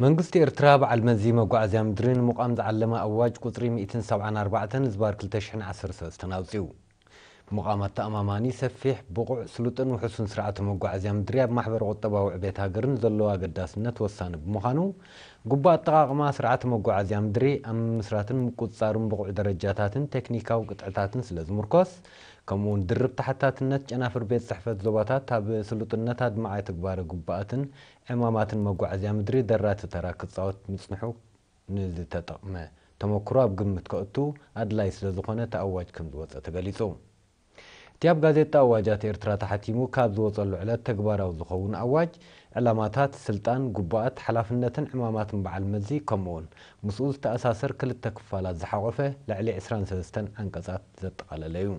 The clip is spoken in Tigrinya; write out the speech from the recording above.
መንግስቲ ኤርትራ በዓል መዚ መጓዓዝያ ምድሪ ንምቋም ዝዓለመ ኣዋጅ ቁጽሪ ሚእትን ሰብዓን ኣርባዕተን ዝባር ክልተ ሽሕን ዓሰርተ ሰለስተን ኣውጺኡ። ምቋም ኣተኣማማኒ፣ ሰፊሕ፣ ብቑዕ፣ ስሉጥን ውሑስን ስርዓተ መጓዓዝያ ምድሪ ኣብ ማሕበረ ቁጠባዊ ዕቤት ሃገርን ዘለዎ ኣገዳስነት ወሳኒ ብምዃኑ፣ ግቡእ ኣጠቓቕማ ስርዓተ መጓዓዝያ ምድሪ ኣብ ምምስራትን ምቁጽጻርን ብቑዕ ደረጃታትን ቴክኒካዊ ቅጥዕታትን ስለ ዝምርኮስ፣ ከምኡውን ድርብ ተሓታትነት ጨናፍር ቤት ጽሕፈት ዞባታት ኣብ ስሉጥነት ኣድማዒ ትግባረ ግቡኣትን ዕማማትን መጓዓዝያ ምድሪ ደራቲ ተራ ክጻወት ምጽንሑ ንዝተጠቕመ ተመክሮ ኣብ ግምት ከእቱ ኣድላይ ስለ ዝኾነ እቲ ኣዋጅ ከም ዝወጸ ተገሊጹ። እቲ ኣብ ጋዜጣ ኣዋጃት ኤርትራ ተሓቲሙ ካብ ዝወጸሉ ዕለት ተግባራዊ ዝኸውን ኣዋጅ፣ ዕላማታት፣ ስልጣን፣ ግቡኣት፣ ሓላፍነትን ዕማማትን በዓል መዚ ከምኡውን ምስኡ ዝተኣሳሰር ክልተ ክፋላት ዝሓቖፈ ልዕሊ ዕስራን ሰለስተን ዓንቀጻት ዘጠቓለለ እዩ።